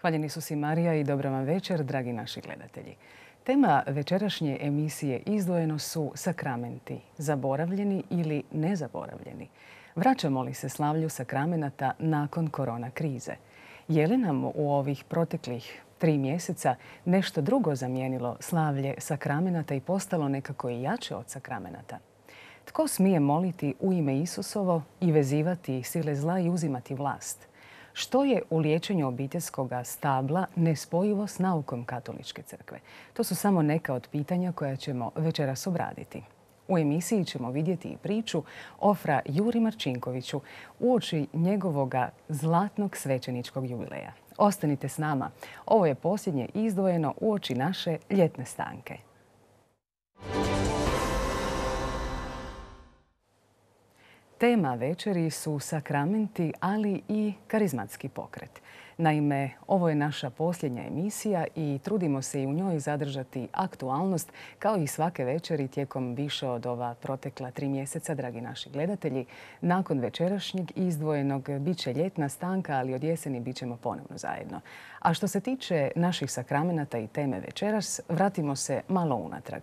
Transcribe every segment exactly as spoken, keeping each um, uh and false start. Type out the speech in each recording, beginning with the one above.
Hvaljeni su si Marija i dobra vam večer, dragi naši gledatelji. Tema večerašnje emisije izdvojeno su sakramenti, zaboravljeni ili nezaboravljeni. Vraćamo li se slavlju sakramenata nakon korona krize? Je li nam u ovih proteklih tri mjeseca nešto drugo zamijenilo slavlje sakramenata i postalo nekako i jače od sakramenata? Tko smije moliti u ime Isusovo i vezivati sile zla i uzimati vlast? Što je u liječenju obiteljskog stabla nespojivo s naukom Katoličke crkve? To su samo neka od pitanja koja ćemo večeras obraditi. U emisiji ćemo vidjeti i priču o fra Juri Marčinkoviću uoči njegovoga zlatnog svećeničkog jubileja. Ostanite s nama. Ovo je posljednje izdvojeno uoči naše ljetne stanke. Tema večeri su sakramenti, ali i karizmatski pokret. Naime, ovo je naša posljednja emisija i trudimo se i u njoj zadržati aktualnost kao i svake večeri tijekom više od ova protekla tri mjeseca, dragi naši gledatelji. Nakon večerašnjeg izdvojenog bit će ljetna stanka, ali od jeseni bit ćemo ponovno zajedno. A što se tiče naših sakramenata i teme večeras, vratimo se malo unatrag.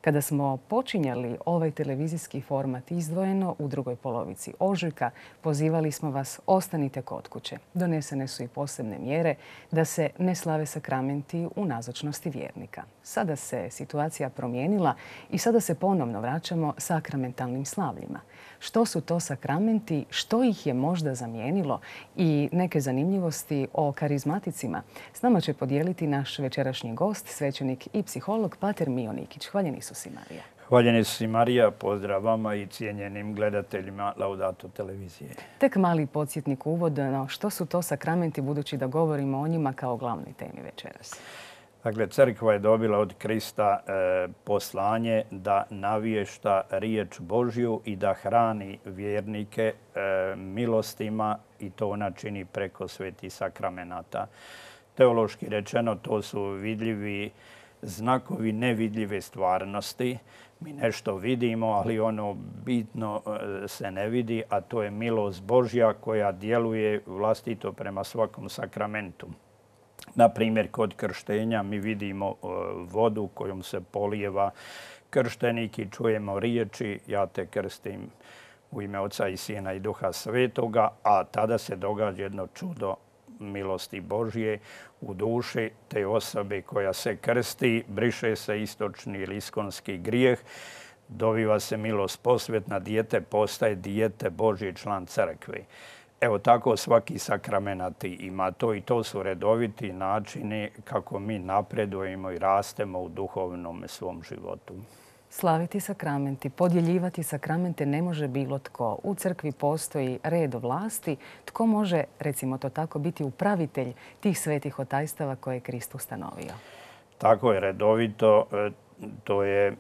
Kada smo počinjali ovaj televizijski format izdvojeno u drugoj polovici ožujka, pozivali smo vas ostanite kod kuće. Donesene su i posebne mjere da se ne slave sakramenti u nazočnosti vjernika. Sada se situacija promijenila i sada se ponovno vraćamo sakramentalnim slavljima. Što su to sakramenti, što ih je možda zamijenilo i neke zanimljivosti o karizmaticima s nama će podijeliti naš večerašnji gost, svećenik i psiholog pater Mio Nikić. Hvaljeni su si Marija. Hvaljeni su si Marija, pozdrav vama i cijenjenim gledateljima Laudato televizije. Tek mali podsjetnik uvodno, što su to sakramenti budući da govorimo o njima kao glavnoj temi večeras? Dakle, crkva je dobila od Krista e, poslanje da navješta riječ Božju i da hrani vjernike e, milostima i to ona čini preko svetih sakramenata. Teološki rečeno, to su vidljivi znakovi nevidljive stvarnosti. Mi nešto vidimo, ali ono bitno se ne vidi, a to je milost Božja koja djeluje vlastito prema svakom sakramentu. Na primjer, kod krštenja mi vidimo vodu kojom se polijeva krštenik i čujemo riječi ja te krstim u ime Oca i Sina i Duha Svetoga, a tada se događa jedno čudo milosti Božje u duši te osobe koja se krsti, briše se istočni ili iskonski grijeh, dobiva se milost posvetna, dijete postaje dijete Božji, član crkve. Evo tako svaki sakramenat ima to i to su redoviti načini kako mi napredujemo i rastemo u duhovnom svom životu. Slaviti sakramenti, podjeljivati sakramente ne može bilo tko. U crkvi postoji red vlasti. Tko može, recimo to tako, biti upravitelj tih svetih otajstava koje je Krist ustanovio? Tako je redovito. To, je,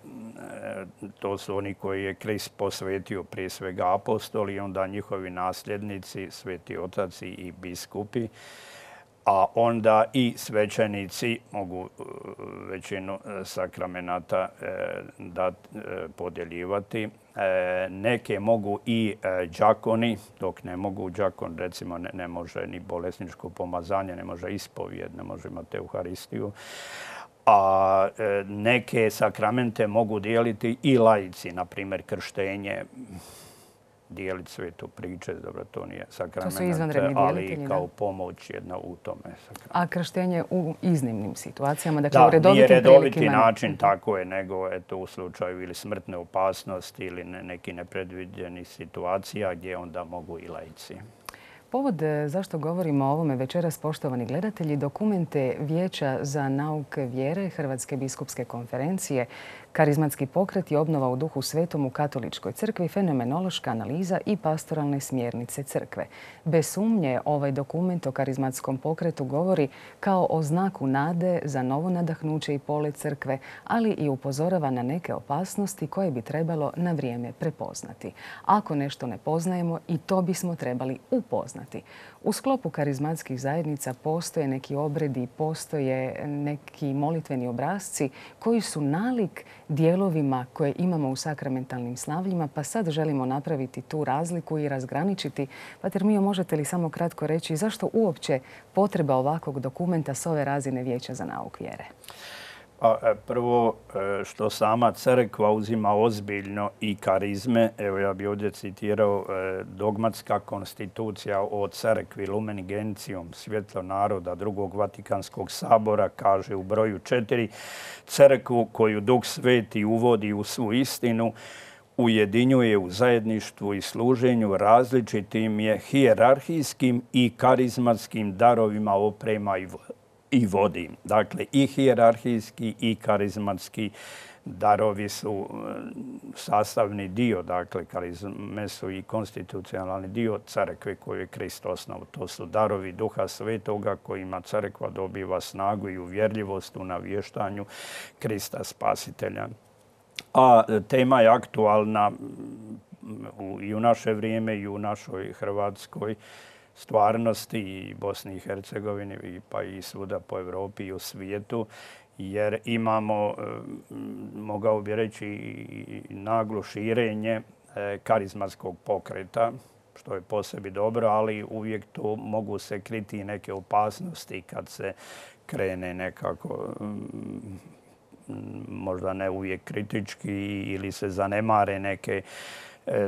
to su oni koji je Krist posvetio prije svega apostoli i onda njihovi nasljednici, sveti otaci i biskupi. A onda i svećenici mogu većinu sakramenata da podjeljivati. Neke mogu i đakoni, dok ne mogu đakon, recimo ne, ne može ni bolesničko pomazanje, ne može ispovijed, ne može imati Euharistiju. A neke sakramente mogu dijeliti i laici, na primjer krštenje, dijeliti svetu priče, dobro, to nije sakrament, ali kao pomoć jedna u tome sakramentu. A krštenje u iznimnim situacijama, dakle da, u redovitim nije redoviti prilikama... način, tako je, nego eto, u slučaju ili smrtne opasnosti ili ne, neki nepredviđenih situacija gdje onda mogu i laici. Povod zašto govorimo o ovome večeras, poštovani gledatelji, dokumente Vijeća za nauke vjere Hrvatske biskupske konferencije, karizmatski pokret i obnova u duhu svetom u Katoličkoj crkvi, fenomenološka analiza i pastoralne smjernice crkve. Bez sumnje, ovaj dokument o karizmatskom pokretu govori kao o znaku nade za novo nadahnuće i polet crkve, ali i upozorava na neke opasnosti koje bi trebalo na vrijeme prepoznati. Ako nešto ne poznajemo, i to bismo trebali upoznati. U sklopu karizmatskih zajednica postoje neki obredi, postoje neki molitveni obrasci koji su nalik dijelovima koje imamo u sakramentalnim slavljima, pa sad želimo napraviti tu razliku i razgraničiti. Pater Mio, možete li samo kratko reći zašto uopće potreba ovakvog dokumenta s ove razine Vijeća za nauk vjere? Pa, prvo, što sama crkva uzima ozbiljno i karizme. Evo, ja bih ovdje citirao dogmatska konstitucija o crkvi Lumen Gentium, svjetlo naroda drugog Vatikanskog sabora, kaže u broju četiri, crkvu koju Duh Sveti uvodi u svu istinu, ujedinjuje u zajedništvu i služenju različitim je hijerarhijskim i karizmatskim darovima oprema i i vodi. Dakle, i hijerarhijski i karizmatski darovi su sastavni dio, dakle, karizme su i konstitucionalni dio crkve koju je Krist osnovao. To su darovi Duha Svetoga kojima crkva dobiva snagu i uvjerljivost u navještanju Krista Spasitelja. A tema je aktualna i u naše vrijeme i u našoj Hrvatskoj stvarnosti i Bosni i Hercegovini, pa i svuda po Europi i u svijetu, jer imamo, mogao bi reći, naglo širenje karizmatskog pokreta, što je po sebi dobro, ali uvijek tu mogu se kriti neke opasnosti kad se krene nekako, možda ne uvijek kritički, ili se zanemare neke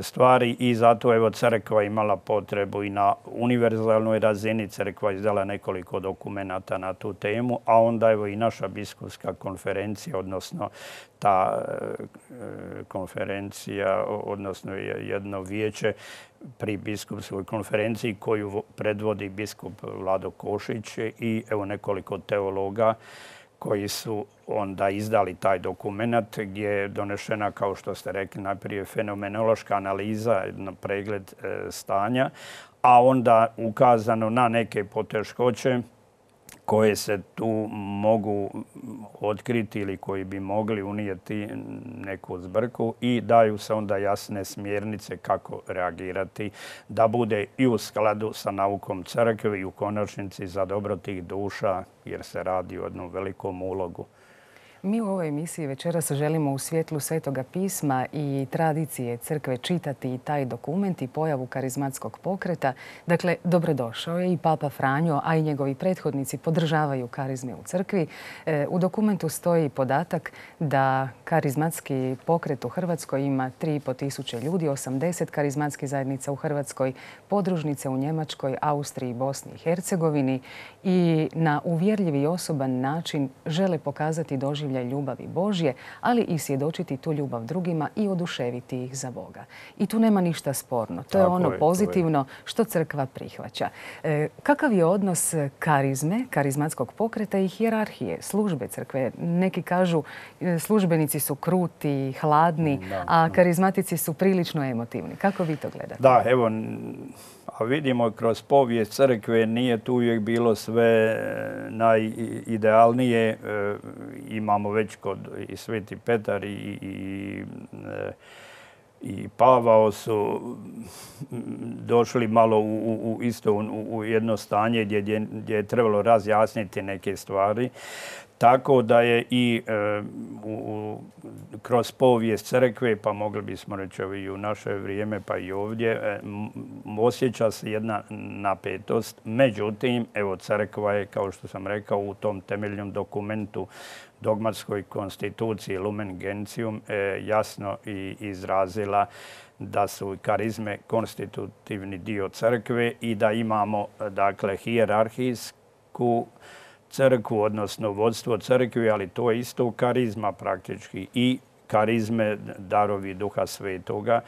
stvari i zato evo crkva imala potrebu i na univerzalnoj razini. Crkva izdala nekoliko dokumenata na tu temu, a onda evo i naša biskupska konferencija, odnosno ta konferencija, odnosno jedno vijeće pri biskupskoj konferenciji koju predvodi biskup Vlado Košić i evo nekoliko teologa koji su onda izdali taj dokument gdje je donešena, kao što ste rekli, najprije fenomenološka analiza, jedan pregled stanja, a onda ukazano na neke poteškoće koje se tu mogu otkriti ili koji bi mogli unijeti neku zbrku i daju se onda jasne smjernice kako reagirati da bude i u skladu sa naukom crkve i u konačnici za dobro tih duša, jer se radi o jednom velikom ulogu. Mi u ovoj emisiji večeras želimo u svjetlu Svetoga pisma i tradicije crkve čitati i taj dokument i pojavu karizmatskog pokreta. Dakle, dobrodošao je i Papa Franjo, a i njegovi prethodnici podržavaju karizme u crkvi. U dokumentu stoji podatak da karizmatski pokret u Hrvatskoj ima tri i pol tisuće ljudi, osamdeset karizmatskih zajednica u Hrvatskoj, podružnice u Njemačkoj, Austriji i Bosni i Hercegovini i na uvjerljiv i osoban način žele pokazati doživljaj ljubavi Božje, ali i svjedočiti tu ljubav drugima i oduševiti ih za Boga. I tu nema ništa sporno. To je ono pozitivno što crkva prihvaća. Kakav je odnos karizme, karizmatskog pokreta i hijerarhije, službe crkve? Neki kažu službenici su kruti, hladni, a karizmatici su prilično emotivni. Kako vi to gledate? Da, evo, a vidimo kroz povijest crkve nije tu uvijek bilo sve najidealnije. Imamo već kod i Sveti Petar i, i, i Pavao su došli malo u, u isto u, u jedno stanje gdje, gdje, gdje je trebalo razjasniti neke stvari. Tako da je i e, u, kroz povijest crkve, pa mogli bismo reći i u naše vrijeme, pa i ovdje, e, osjeća se jedna napetost. Međutim, evo crkva je, kao što sam rekao, u tom temeljnom dokumentu dogmatskoj konstituciji Lumen Gentium e, jasno i izrazila da su karizme konstitutivni dio crkve i da imamo, dakle, hijerarhijsku crkvu, odnosno vodstvo crkve, ali to je isto karizma praktički i karizme darovi Duha Svetoga.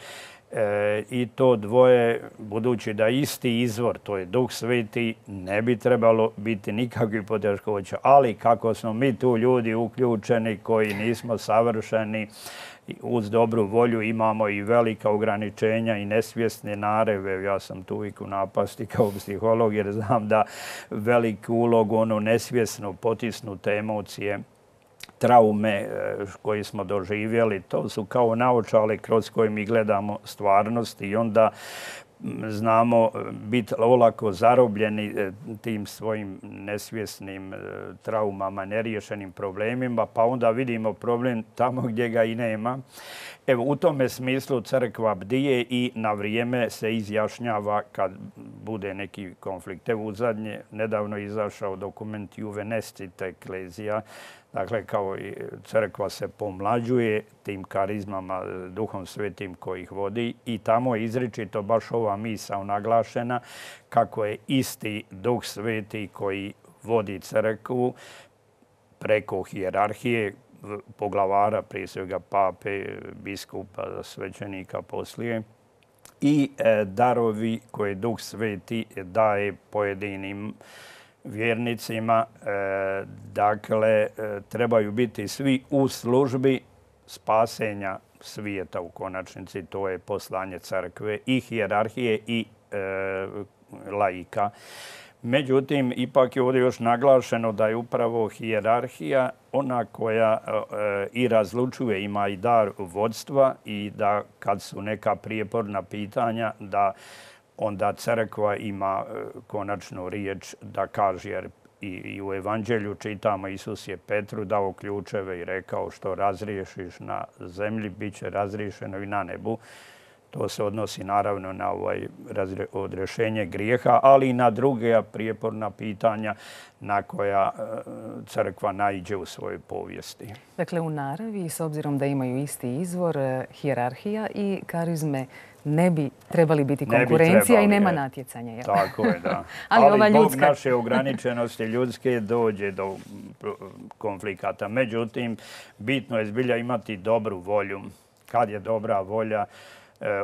E, I to dvoje, budući da isti izvor, to je Duh Sveti, ne bi trebalo biti nikakvih poteškoća. Ali kako smo mi tu ljudi uključeni koji nismo savršeni, uz dobru volju imamo i velika ograničenja i nesvjesne nareve. Ja sam tu uvijek u napasti kao psiholog jer znam da veliku ulogu ono nesvjesno potisnute emocije, traume koje smo doživjeli, to su kao naočale kroz koje mi gledamo stvarnost i onda znamo biti olako zarobljeni tim svojim nesvjesnim traumama, neriješenim problemima, pa onda vidimo problem tamo gdje ga i nema. Evo, u tome smislu crkva bdije i na vrijeme se izjašnjava kad bude neki konflikt. Evo, u zadnje, nedavno izašao dokument Juve Nescit Ecclesia. Dakle, kao i crkva se pomlađuje tim karizmama, Duhom Svetim koji ih vodi i tamo je izričito baš ova misao naglašena kako je isti Duh Sveti koji vodi crkvu preko hijerarhije, poglavara, prije svega pape, biskupa, svećenika poslije, i darovi koje Duh Sveti daje pojedinim vjernicima. Dakle, trebaju biti svi u službi spasenja svijeta u konačnici. To je poslanje crkve i hijerarhije i laika. Međutim, ipak je ovdje još naglašeno da je upravo hijerarhija ona koja i razlučuje, ima i dar vodstva i da kad su neka prijeporna pitanja da onda crkva ima konačnu riječ da kaže, jer i u evanđelju čitamo Isus je Petru dao ključeve i rekao što razriješiš na zemlji, bit će razriješeno i na nebu. To se odnosi naravno na ovaj odrešenje grijeha, ali i na druge prijeporna pitanja na koja crkva naiđe u svojoj povijesti. Dakle, u naravi, s obzirom da imaju isti izvor, hijerarhija i karizme ne bi trebali biti konkurencija trebali, i nema je. natjecanja. Jel? Tako je, da. ali ali ova zbog ljudska... naše ograničenosti ljudske dođe do konflikata. Međutim, bitno je zbilja imati dobru volju. Kad je dobra volja,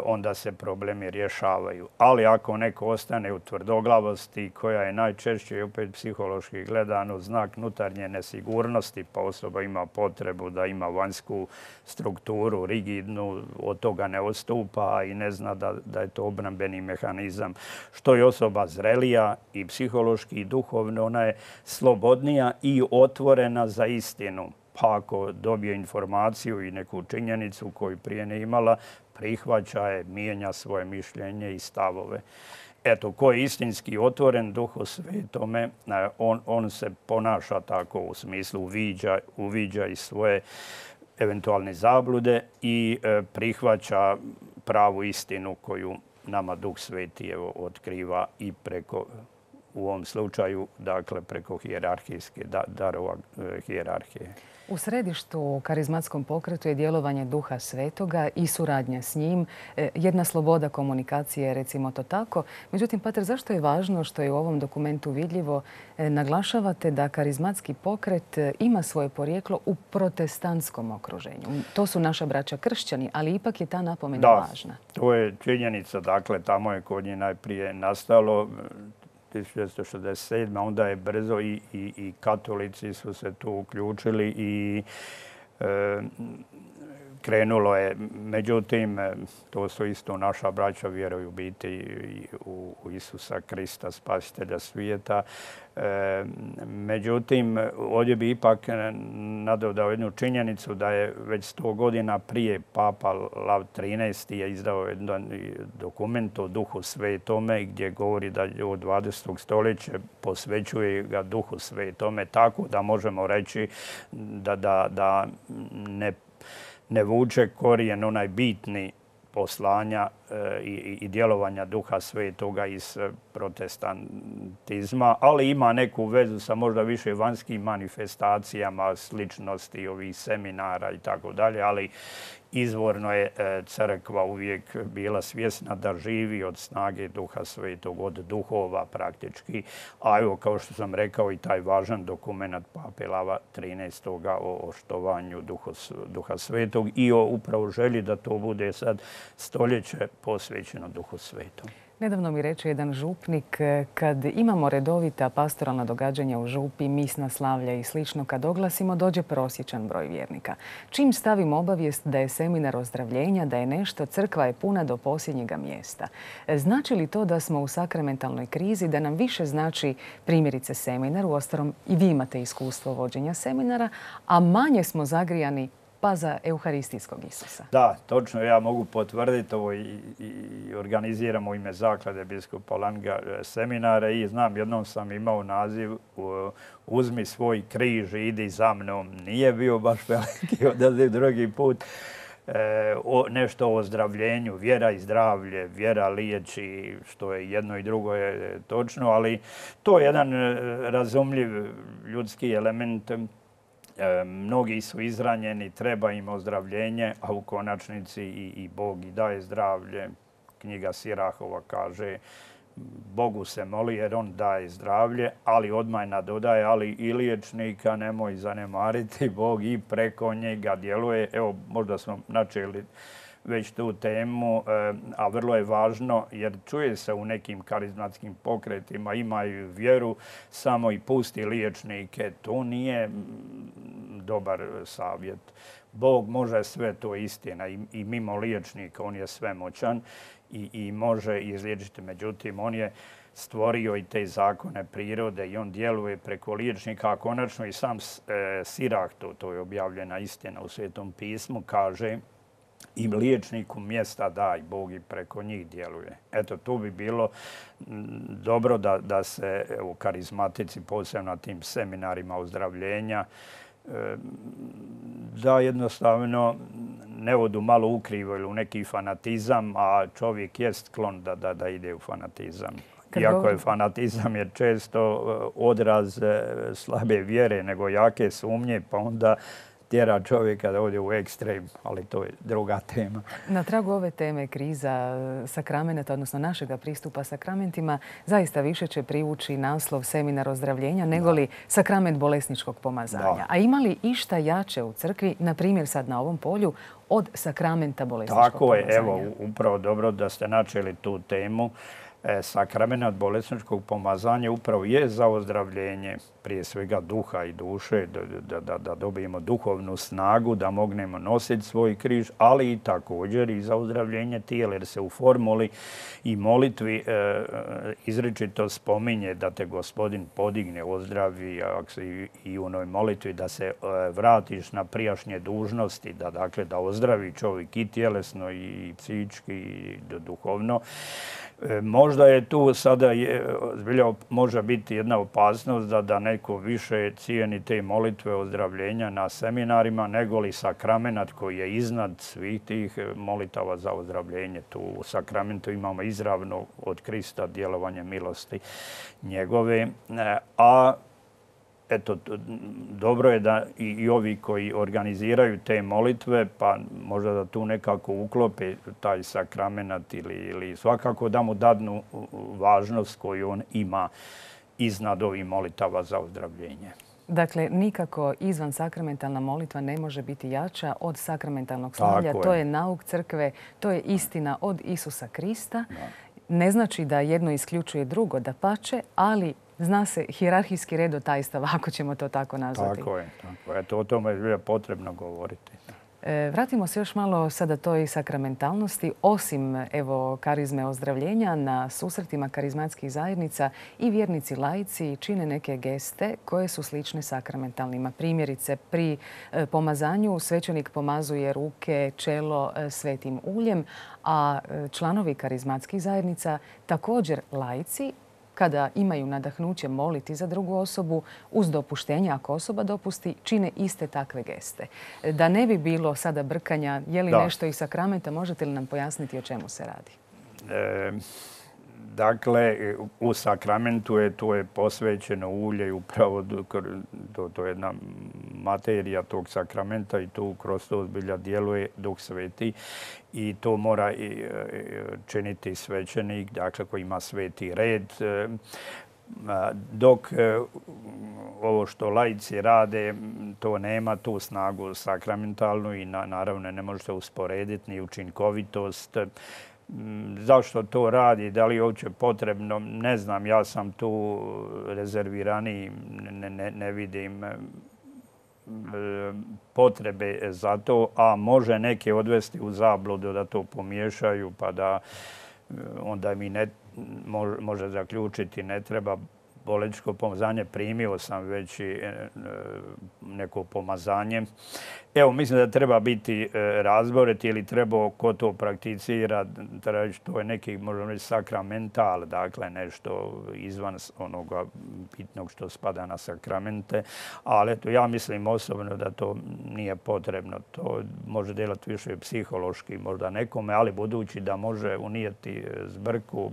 onda se problemi rješavaju. Ali ako neko ostane u tvrdoglavosti, koja je najčešće, opet psihološki gledano, znak unutarnje nesigurnosti, pa osoba ima potrebu da ima vanjsku strukturu, rigidnu, od toga ne odstupa i ne zna da, da je to obrambeni mehanizam. Što je osoba zrelija i psihološki i duhovno, ona je slobodnija i otvorena za istinu. Pa ako dobije informaciju i neku činjenicu koju prije ne imala, prihvaća je, mijenja svoje mišljenje i stavove. Eto, ko je istinski otvoren Duhu Svetome, on, on se ponaša tako u smislu uviđa, uviđa i svoje eventualne zablude i e, prihvaća pravu istinu koju nama Duh Sveti evo, otkriva i preko, u ovom slučaju, dakle, preko hijerarhijske, da, darova e, hijerarhije. U središtu karizmatskom pokretu je djelovanje Duha Svetoga i suradnja s njim, jedna sloboda komunikacije, recimo to tako. Međutim, pater, zašto je važno što je u ovom dokumentu vidljivo, naglašavate da karizmatski pokret ima svoje porijeklo u protestantskom okruženju? To su naša braća kršćani, ali ipak je ta napomena da, važna. To je činjenica. Dakle, tamo je kod njih najprije nastalo tisuću devetsto šezdeset sedme. Onda je brzo i, i, i katolici su se tu uključili i e, krenulo je. Međutim, to su isto naša braća, vjeruju biti u, u Isusa Krista, spasitelja svijeta. E, međutim, ovdje bi ipak nadodao jednu činjenicu da je već sto godina prije Papa Lav trinaesti je izdao jedan dokument o Duhu Svetome gdje govori da od dvadesetog stoljeća posvećuje ga Duhu Svetome, tako da možemo reći da, da, da ne ne vuče korijen onaj bitni poslanja e, i, i djelovanja Duha Svetoga iz protestantizma, ali ima neku vezu sa možda više vanjskim manifestacijama, sličnosti ovih seminara i tako dalje, ali izvorno je e, crkva uvijek bila svjesna da živi od snage Duha Svetog, od duhova praktički. A evo, kao što sam rekao, i taj važan dokument Pape Lava trinaestog o štovanju Duha, Duha Svetog i o upravo želji da to bude sad stoljeće posvećeno Duhu Svetom. Nedavno mi reče jedan župnik, kad imamo redovita pastoralna događanja u župi, misna slavlja i slično, kad oglasimo, dođe prosječan broj vjernika. Čim stavimo obavijest da je seminar ozdravljenja, da je nešto, crkva je puna do posljednjega mjesta. Znači li to da smo u sakramentalnoj krizi, da nam više znači primjerice seminar, uostalom i vi imate iskustvo vođenja seminara, a manje smo zagrijani pa za euharistijskog Isusa. Da, točno. Ja mogu potvrditi ovo i, i organiziramo u ime Zaklade biskupa Langa seminare i znam, jednom sam imao naziv Uzmi svoj križ i idi za mnom. Nije bio baš veliki odaziv, drugi put. E, o, nešto o ozdravljenju, vjera i zdravlje, vjera liječi, što je jedno i drugo je točno, ali to je jedan razumljiv ljudski element. E, mnogi su izranjeni, treba im ozdravljenje, a u konačnici i, i Bog i daje zdravlje. Knjiga Sirahova kaže Bogu se moli jer on daje zdravlje, ali odmah nadodaje, ali i liječnika nemoj zanemariti, Bog i preko njega djeluje. Evo, možda smo načeli već tu temu, a vrlo je važno jer čuje se u nekim karizmatskim pokretima, imaju vjeru, samo i pusti liječnike. To nije dobar savjet. Bog može sve, to je istina, i, i mimo liječnika on je svemoćan i, i može izliječiti. Međutim, on je stvorio i te zakone prirode i on djeluje preko liječnika, a konačno i sam e, Sirah, to, to je objavljena istina u Svetom pismu, kaže i liječniku mjesta daj, Bog i preko njih djeluje. Eto, tu bi bilo dobro da, da se u karizmatici, posebno na tim seminarima ozdravljenja, da jednostavno ne odu malo ukrivo ili u neki fanatizam, a čovjek jest sklon da, da, da ide u fanatizam. Iako je fanatizam je često odraz slabe vjere nego jake sumnje, pa onda tjera čovjeka da ode u ekstrem, ali to je druga tema. Na tragu ove teme kriza sakramenata, odnosno našega pristupa sakramentima, zaista više će privući naslov seminar ozdravljenja nego li sakrament bolesničkog pomazanja. Da. A ima li išta jače u crkvi, na primjer sad na ovom polju, od sakramenta bolesničkog Tako pomazanja? Tako je, evo, upravo dobro da ste načeli tu temu. Sakrament bolesničkog pomazanja upravo je za ozdravljenje prije svega duha i duše, da, da, da dobijemo duhovnu snagu, da mognemo nositi svoj križ, ali i također i za ozdravljenje tijela, jer se u formuli i molitvi e, izričito spominje da te Gospodin podigne, ozdravi, ako se i, i u onoj molitvi da se e, vratiš na prijašnje dužnosti, da, dakle, da ozdravi čovjek i tjelesno i psihički i duhovno. E, možda je tu sada je, zbilja može biti jedna opasnost da, da neko više cijeni te molitve ozdravljenja na seminarima nego li sakramenat koji je iznad svih tih molitava za ozdravljenje. Tu u sakramentu imamo izravno od Krista djelovanje milosti njegove, e, a eto, dobro je da i, i ovi koji organiziraju te molitve, pa možda da tu nekako uklope taj sakramenat ili, ili svakako da mu dadnu važnost koju on ima iznad ovih molitava za ozdravljenje. Dakle, nikako izvan sakramentalna molitva ne može biti jača od sakramentalnog slavlja. To je nauk crkve, to je istina od Isusa Krista. Da. Ne znači da jedno isključuje drugo, dapače, ali zna se hijerarhijski redotajstava, ako ćemo to tako nazvati. Tako je. Tako je. Eto, o tome je potrebno govoriti. E, vratimo se još malo sada toj sakramentalnosti. Osim evo, karizme ozdravljenja, na susretima karizmatskih zajednica i vjernici laici čine neke geste koje su slične sakramentalnima. Primjerice, pri e, pomazanju svećenik pomazuje ruke, čelo e, svetim uljem, a e, članovi karizmatskih zajednica, također laici, kada imaju nadahnuće moliti za drugu osobu, uz dopuštenje, ako osoba dopusti, čine iste takve geste. Da ne bi bilo sada brkanja, je li da. nešto iz sakramenta, možete li nam pojasniti o čemu se radi? E, dakle, u sakramentu je to je posvećeno ulje i upravo to, to je jedna materija tog sakramenta i tu kroz to zbilja djeluje Duh Sveti i to mora i činiti svećenik, dakle koji ima sveti red. Dok ovo što laici rade, to nema tu snagu sakramentalnu i naravno ne može se usporediti ni učinkovitost. Zašto to radi, da li je uopće potrebno, ne znam, ja sam tu rezerviraniji, ne, ne, ne vidim potrebe za to, a može neke odvesti u zabludu da to pomiješaju pa da onda mi ne može zaključiti ne treba bolečko pomazanje, primio sam već i neko pomazanje. Evo, mislim da treba biti razborit ili treba ko to prakticira, to je neki, možemo reći, sakramental, dakle nešto izvan onoga bitnog što spada na sakramente, ali eto, ja mislim osobno da to nije potrebno. To može delati više psihološki možda nekome, ali budući da može unijeti zbrku,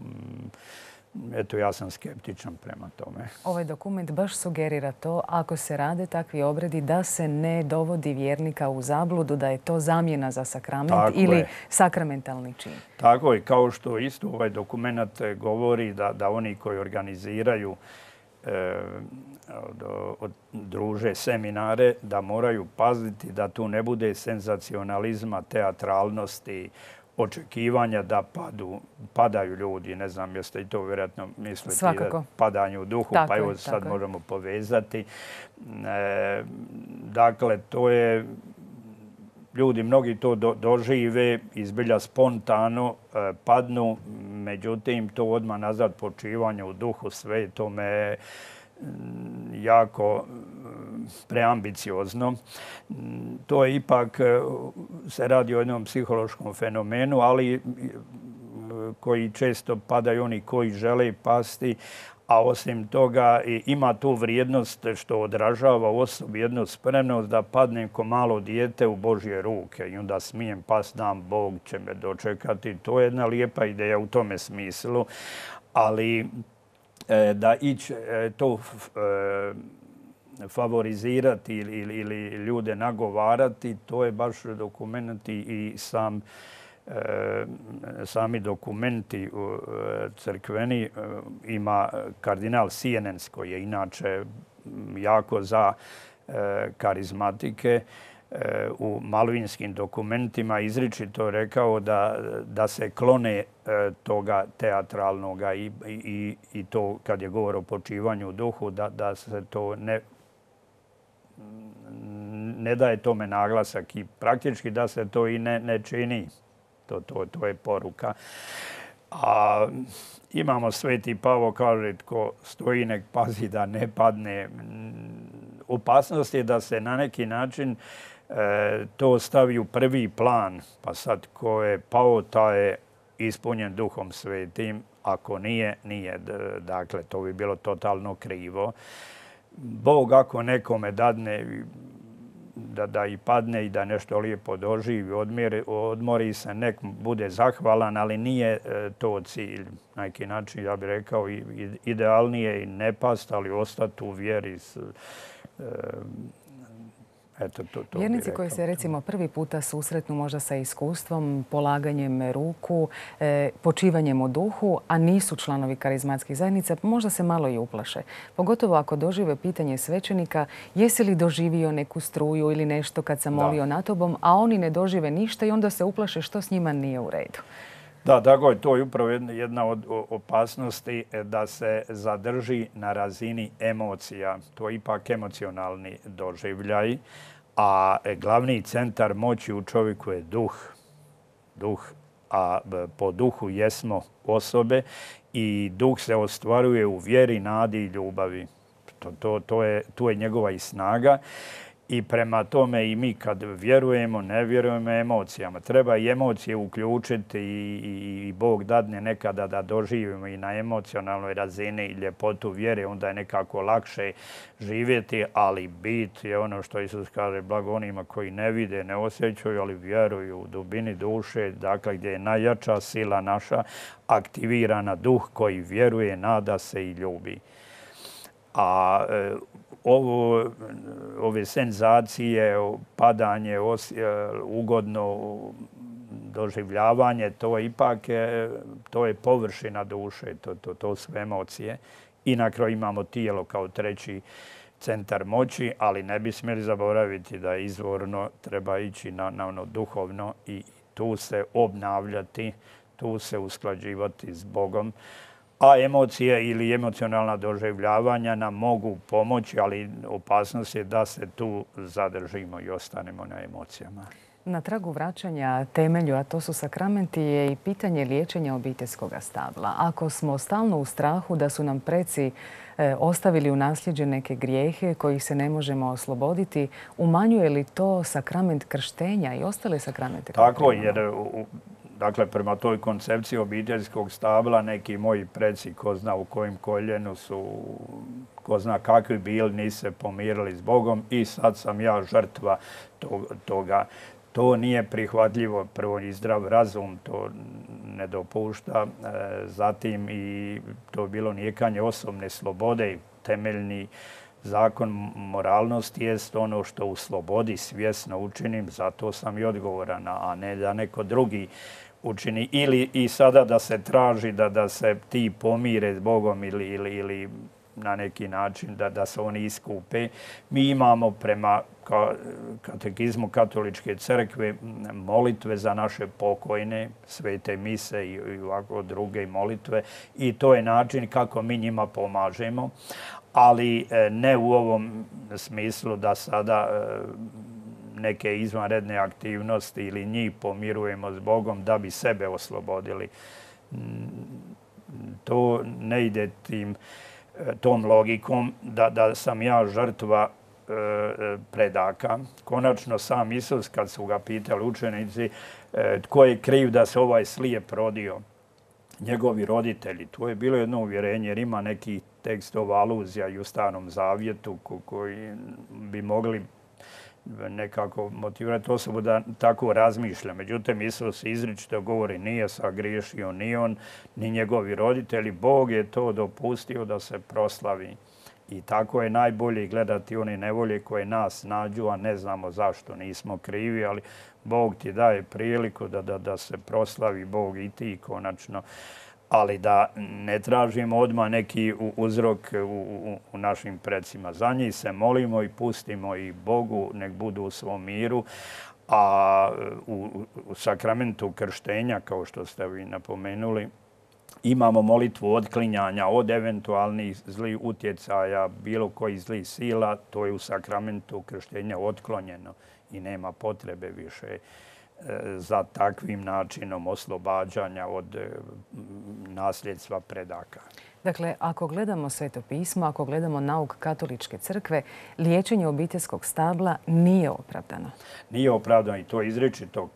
eto, ja sam skeptičan prema tome. Ovaj dokument baš sugerira to, ako se rade takvi obredi, da se ne dovodi vjernika u zabludu, da je to zamjena za sakrament Tako ili je. sakramentalni čin. Tako je, kao što isto ovaj dokument govori da, da oni koji organiziraju e, od, od, druže seminare, da moraju paziti da tu ne bude senzacionalizma, teatralnosti, očekivanja da padu, padaju ljudi. Ne znam, jeste i to vjerojatno misliti. Svakako. Da padanje u duhu, Tako pa evo je, sad tako možemo povezati. E, dakle, to je, ljudi mnogi to do, dožive, izbilja spontano, e, padnu, međutim to odmah nazad počivanje u duhu, sve to me jako preambiciozno. To je ipak, se radi o jednom psihološkom fenomenu, ali koji često padaju oni koji žele pasti, a osim toga ima tu vrijednost što odražava u osobi jednu spremnost da padnem ko malo dijete u Božje ruke i onda smijem past, dam, Bog će me dočekati. To je jedna lijepa ideja u tome smislu, ali da ići to favorizirati ili, ili, ili ljude nagovarati, to je baš dokumenti i sam, sami dokumenti crkveni. Ima kardinal Sienens koji je inače jako za karizmatike. U malvinskim dokumentima izričito rekao da, da se klone toga teatralnoga i, i, i to kad je govor o počivanju u duhu, da, da se to ne, ne daje tome naglasak i praktički da se to i ne, ne čini. To, to, to je poruka. A imamo Sveti Pavo kaže tko stoji nek pazi da ne padne. Opasnost je da se na neki način E, to stavi u prvi plan, pa sad ko je pao, taj je ispunjen Duhom Svetim, ako nije, nije. Dakle, to bi bilo totalno krivo. Bog ako nekome dadne da, da i padne i da nešto lijepo doživi, odmori, odmori se, nek bude zahvalan, ali nije to cilj. Na neki način, ja bih rekao, idealnije i ne past, ali ostati u vjeri s, e, Eto, to, to Vjernici koji se recimo prvi puta susretnu možda sa iskustvom, polaganjem ruku, e, počivanjem u duhu, a nisu članovi karizmatskih zajednica, možda se malo i uplaše. Pogotovo ako dožive pitanje svećenika, jesi li doživio neku struju ili nešto kad sam molio da. na tobom, a oni ne dožive ništa i onda se uplaše što s njima nije u redu. Da, tako je. To je upravo jedna od opasnosti da se zadrži na razini emocija. To je ipak emocionalni doživljaj, a glavni centar moći u čovjeku je duh. Duh, a po duhu jesmo osobe i duh se ostvaruje u vjeri, nadi i ljubavi. To, to, to je, tu je njegova i snaga. I prema tome i mi kad vjerujemo, ne vjerujemo emocijama. Treba i emocije uključiti i, i, i Bog dadne nekada da doživimo i na emocionalnoj razini ljepotu vjere, onda je nekako lakše živjeti, ali bit je ono što Isus kaže, blago onima koji ne vide, ne osjećaju, ali vjeruju u dubini duše, dakle gdje je najjača sila naša, aktivirana duh koji vjeruje, nada se i ljubi. A e, ovo, ove senzacije, padanje, ugodno doživljavanje, to ipak je, to je površina duše, to, to, to su emocije. I na kraju imamo tijelo kao treći centar moći, ali ne bi smjeli zaboraviti da izvorno treba ići na, na ono duhovno i tu se obnavljati, tu se usklađivati s Bogom. A emocije ili emocionalna doživljavanja nam mogu pomoći, ali opasnost je da se tu zadržimo i ostanemo na emocijama. Na tragu vraćanja temelju, a to su sakramenti, je i pitanje liječenja obiteljskog stabla. Ako smo stalno u strahu da su nam preci e, ostavili u nasljeđe neke grijehe kojih se ne možemo osloboditi, umanjuje li to sakrament krštenja i ostale sakramente? Tako, jer u, dakle, prema toj koncepciji obiteljskog stabla neki moji preci, ko zna u kojem koljenu su, ko zna kakvi bili, nisu se pomirili s Bogom i sad sam ja žrtva toga. To nije prihvatljivo, prvo i zdrav razum to ne dopušta, zatim i to bilo nijekanje osobne slobode, temeljni zakon moralnosti jest ono što u slobodi svjesno učinim, zato sam i odgovoran, a ne da neko drugi učini. Ili i sada da se traži da, da se ti pomire s Bogom ili, ili, ili na neki način da, da se oni iskupe. Mi imamo prema katekizmu Katoličke crkve molitve za naše pokojne, svete mise i ovako druge molitve i to je način kako mi njima pomažemo, ali ne u ovom smislu da sada neke izvanredne aktivnosti ili njih pomirujemo s Bogom da bi sebe oslobodili. To ne ide tim tom logikom da, da sam ja žrtva e, predaka. Konačno sam Isus, kad su ga pitali učenici e, tko je kriv da se ovaj slijep rodio, njegovi roditelji. To je bilo jedno uvjerenje jer ima nekih tekstova, aluzija i u Starom zavjetu ko, koji bi mogli nekako motivirati osobu da tako razmišlja. Međutim, Isus izričito govori nije sagriješio ni on, ni njegovi roditelji. Bog je to dopustio da se proslavi. I tako je najbolje gledati one nevolje koje nas nađu, a ne znamo zašto nismo krivi, ali Bog ti daje priliku da, da, da se proslavi Bog i ti konačno. Ali da ne tražimo odmah neki uzrok u, u, u našim predsima. Za njih se molimo i pustimo i Bogu, nek budu u svom miru. A u, u sakramentu krštenja, kao što ste vi napomenuli, imamo molitvu otklinjanja od eventualnih zlih utjecaja, bilo kojih zlih sila. To je u sakramentu krštenja otklonjeno i nema potrebe više za takvim načinom oslobađanja od nasljedstva predaka. Dakle, ako gledamo Sveto pismo, ako gledamo nauk Katoličke crkve, liječenje obiteljskog stabla nije opravdano. Nije opravdano i to izričito.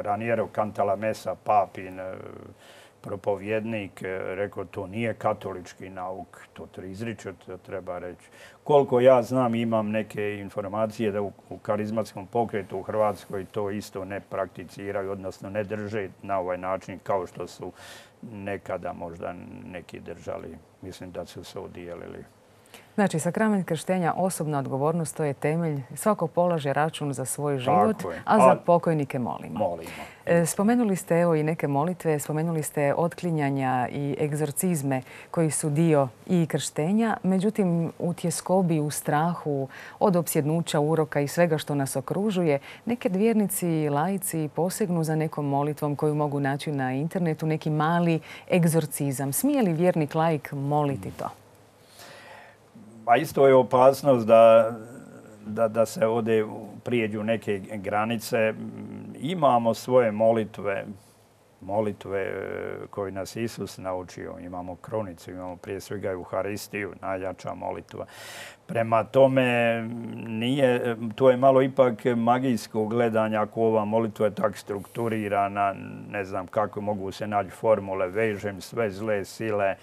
Raniero Cantalamessa, papin propovjednik, rekao to nije katolički nauk, to izričito treba reći. Koliko ja znam, imam neke informacije da u, u karizmatskom pokretu u Hrvatskoj to isto ne prakticiraju, odnosno ne drže na ovaj način kao što su nekada možda neki držali. Mislim da su se odijelili. Znači, sakrament krštenja, osobna odgovornost, to je temelj. Svako polaže račun za svoj život, a za pokojnike molimo. Molimo. Spomenuli ste evo i neke molitve, spomenuli ste otklinjanja i egzorcizme koji su dio i krštenja. Međutim, u tjeskobi, u strahu, od opsjednuća, uroka i svega što nas okružuje, neke vjernici i laici posegnu za nekom molitvom koju mogu naći na internetu, neki mali egzorcizam. Smije li vjernik laik moliti to? A isto je opasnost da, da, da se ovdje prijeđu neke granice. Imamo svoje molitve, molitve koje nas Isus naučio. Imamo kronicu, imamo prije svega Euharistiju, najjača molitva. Prema tome, nije, to je malo ipak magijsko gledanje ako ova molitva je tak strukturirana, ne znam kako mogu se naći formule, vežem sve zle sile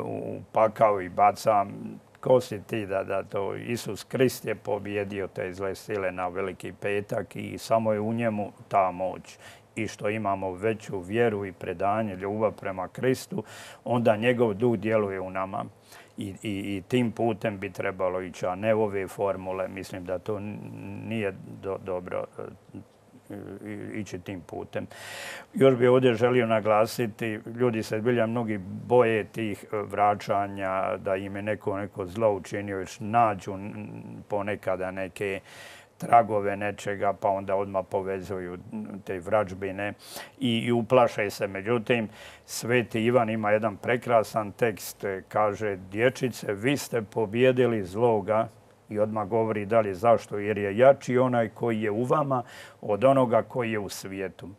u pakao i bacam. Ko si ti da, da to Isus Krist je pobjedio te zle sile na Veliki petak i samo je u njemu ta moć. I što imamo veću vjeru i predanje, ljubav prema Kristu, onda njegov duh djeluje u nama. I, i, i tim putem bi trebalo ići, a ne ove formule. Mislim da to nije do, dobro ići tim putem. Još bih ovdje želio naglasiti, ljudi se zbilja mnogi boje tih vraćanja, da im je neko, neko zlo učinio, još nađu ponekada neke tragove nečega, pa onda odmah povezuju te vrađbine i, i uplaše se. Međutim, Sveti Ivan ima jedan prekrasan tekst, kaže: dječice, vi ste pobjedili zloga I odmah govori dalje zašto, jer je jači onaj koji je u vama od onoga koji je u svijetu.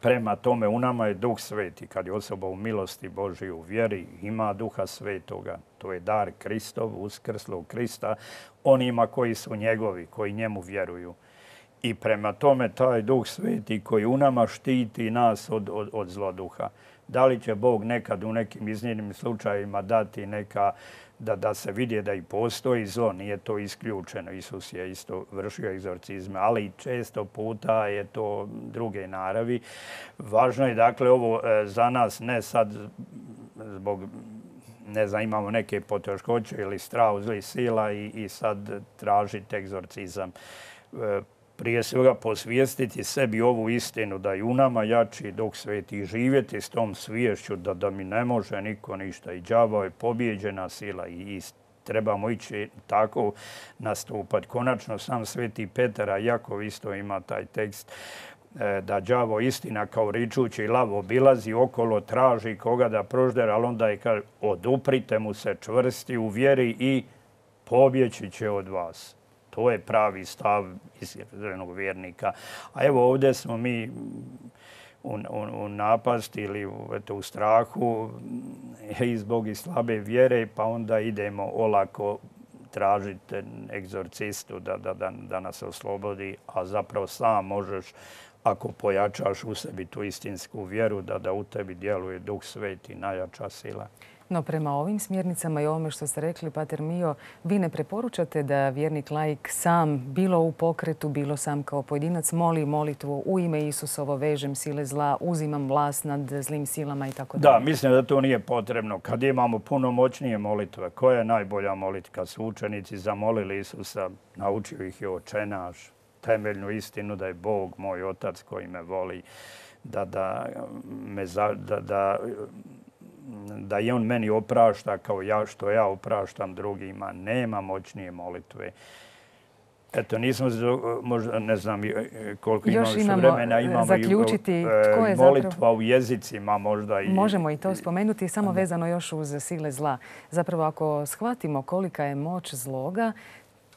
Prema tome, u nama je Duh Sveti. Kad je osoba u milosti Božje, u vjeri, ima Duha Svetoga. To je dar Kristov, uskrslog Krista, onima koji su njegovi, koji njemu vjeruju. I prema tome, taj Duh Sveti koji u nama štiti nas od, od, od zloduha. Da li će Bog nekad u nekim iznimnim slučajevima dati neka, da, da se vidi da i postoji zlo, nije to isključeno. Isus je isto vršio egzorcizme, ali često puta je to druge naravi. Važno je, dakle, ovo za nas ne sad zbog, ne znam, imamo neke poteškoće ili strah zlih sila i, i sad tražiti egzorcizam. Prije svega posvijestiti sebi ovu istinu da je u nama jači Duh Sveti i živjeti s tom sviješću da, da mi ne može niko ništa. I đavo je pobjeđena sila i, i trebamo ići tako nastupati. Konačno sam Sveti Petar, a Jakov isto ima taj tekst, da đavo istina kao ričući lav obilazi okolo, traži koga da proždere, ali onda je kaže oduprite mu se čvrsti u vjeri i pobjeći će od vas. To je pravi stav iskrenog vjernika. A evo ovdje smo mi u, u, u napasti ili u, eto, u strahu i zbog i slabe vjere, pa onda idemo olako tražiti egzorcistu da, da, da, da nas oslobodi, a zapravo sam možeš, ako pojačaš u sebi tu istinsku vjeru, da, da u tebi djeluje Duh Sveti, najjača sila. No prema ovim smjernicama i ovome što ste rekli, Pater Mio, vi ne preporučate da vjernik laik sam, bilo u pokretu, bilo sam kao pojedinac, moli molitvu u ime Isusovo, vežem sile zla, uzimam vlast nad zlim silama i tako dalje? Da, mislim da to nije potrebno. Kad imamo puno moćnije molitve, koja je najbolja molitva? Kad su učenici zamolili Isusa, naučio ih je Oče naš, temeljnu istinu da je Bog moj Otac koji me voli, da, da me za, da, da da i on meni oprašta kao ja što ja opraštam drugima. Nema moćnije molitve. Eto, nismo, možda ne znam koliko imamo što vremena, imamo zaključiti i tko je molitva zapravo... u jezicima možda. I... Možemo i to spomenuti, samo vezano još uz sile zla. Zapravo, ako shvatimo kolika je moć zloga,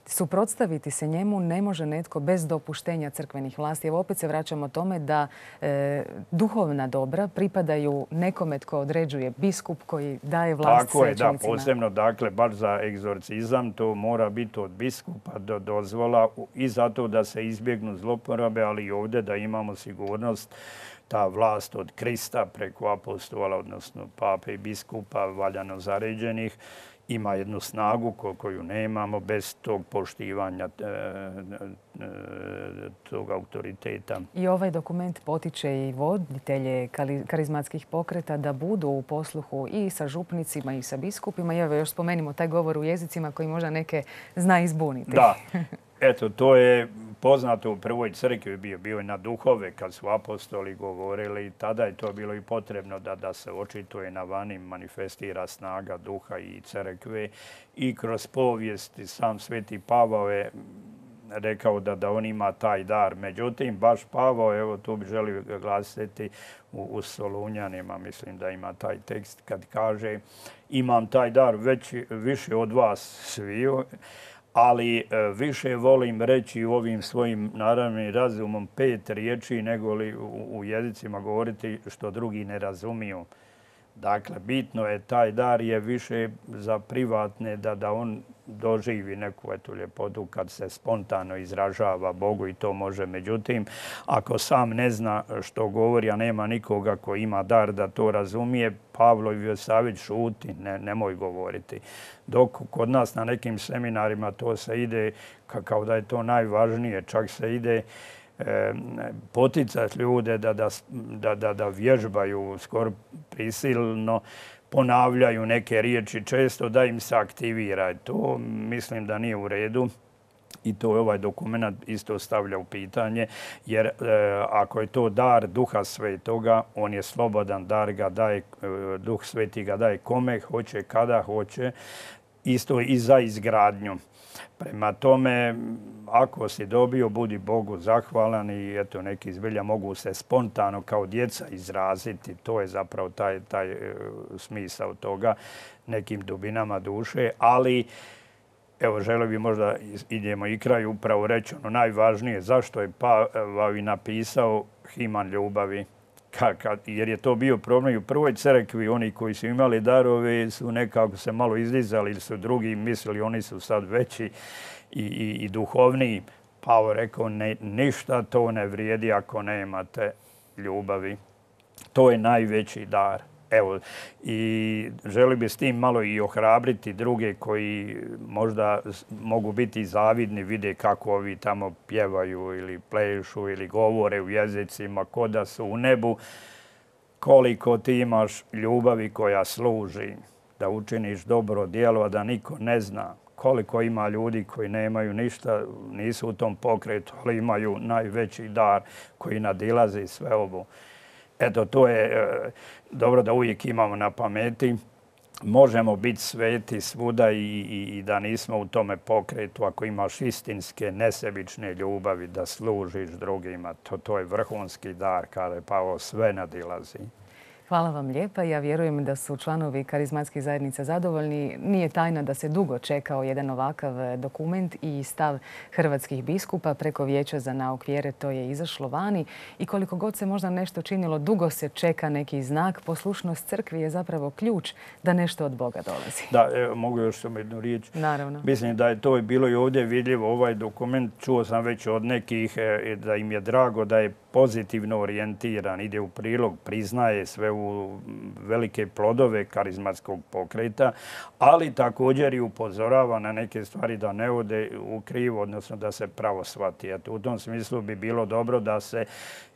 suprotstaviti se njemu ne može netko bez dopuštenja crkvenih vlasti. Evo opet se vraćamo tome da e, duhovna dobra pripadaju nekome tko određuje, biskup koji daje vlast svećenicima. Tako je, da, posebno, dakle, baš za egzorcizam to mora biti od biskupa do dozvola i zato da se izbjegnu zloporabe, ali i ovdje da imamo sigurnost ta vlast od Krista preko apostola, odnosno pape i biskupa valjano zaređenih, ima jednu snagu koju nemamo bez tog poštivanja tog autoriteta. I ovaj dokument potiče i voditelje karizmatskih pokreta da budu u posluhu i sa župnicima i sa biskupima. I evo još spomenimo taj govor u jezicima koji možda neke zna izbuniti. Da. Eto, to je poznato u prvoj crkvi, bio, bio je na duhove kad su apostoli govorili. Tada je to bilo i potrebno da, da se očituje na vani, manifestira snaga duha i crkve. I kroz povijest sam Sveti Pavao je rekao da, da on ima taj dar. Međutim, baš Pavao, evo tu bi želio glasiti u, u Solunjanima, mislim da ima taj tekst kad kaže imam taj dar već više od vas sviju, ali više volim reći u ovim svojim naravnim razumom pet riječi nego li u jezicima govoriti što drugi ne razumiju. Dakle, bitno je taj dar je više za privatne da, da on doživi neku etu ljepotu kad se spontano izražava Bogu i to može. Međutim, ako sam ne zna što govori, a nema nikoga koji ima dar da to razumije, Pavlov savjet šuti, ne, nemoj govoriti. Dok kod nas na nekim seminarima to se ide kao da je to najvažnije, čak se ide poticati ljude da, da, da, da, da vježbaju skoro prisilno, ponavljaju neke riječi često da im se aktivira. To mislim da nije u redu i to je ovaj dokument isto stavlja u pitanje, jer e, ako je to dar Duha Svetoga, on je slobodan dar, ga daje, Duh Sveti ga daje kome hoće, kada hoće, isto i za izgradnju. Prema tome, ako si dobio, budi Bogu zahvalan i eto, neki zbilja mogu se spontano kao djeca izraziti. To je zapravo taj, taj smisao toga nekim dubinama duše, ali evo, želio bi možda idemo i kraj upravo reći ono najvažnije, zašto je Pavao i napisao Himan ljubavi. Jer je to bio problem i u prvoj crkvi. Oni koji su imali darove su nekako se malo izdizali ili su drugi mislili oni su sad veći i, i, i duhovniji. Pavao rekao ne, ništa to ne vrijedi ako nemate ljubavi. To je najveći dar. Evo, i želi bi s tim malo i ohrabriti druge koji možda mogu biti zavidni, vide kako ovi tamo pjevaju ili plešu ili govore u jezicima ko da su u nebu. Koliko ti imaš ljubavi koja služi da učiniš dobro djelo, a da niko ne zna. Koliko ima ljudi koji nemaju ništa, nisu u tom pokretu, ali imaju najveći dar koji nadilazi sve ovo. Eto, to je e, dobro da uvijek imamo na pameti. Možemo biti sveti svuda i, i, i da nismo u tome pokretu. Ako imaš istinske, nesebične ljubavi da služiš drugima, to, to je vrhunski dar, kada Pavao sve nadilazi. Hvala vam lijepa. Ja vjerujem da su članovi karizmatskih zajednica zadovoljni. Nije tajna da se dugo čekao jedan ovakav dokument i stav hrvatskih biskupa preko Vijeća za nauk vjere. To je izašlo vani i koliko god se možda nešto činilo, dugo se čeka neki znak. Poslušnost crkvi je zapravo ključ da nešto od Boga dolazi. Da, evo, mogu još samo jednu riječ. Naravno. Mislim da je to bilo i ovdje vidljivo. Ovaj dokument čuo sam već od nekih da im je drago da je pozitivno orijentiran, ide u prilog, priznaje sve u velike plodove karizmatskog pokreta, ali također i upozorava na neke stvari da ne ode u krivo, odnosno da se pravo shvati. Eto, u tom smislu bi bilo dobro da se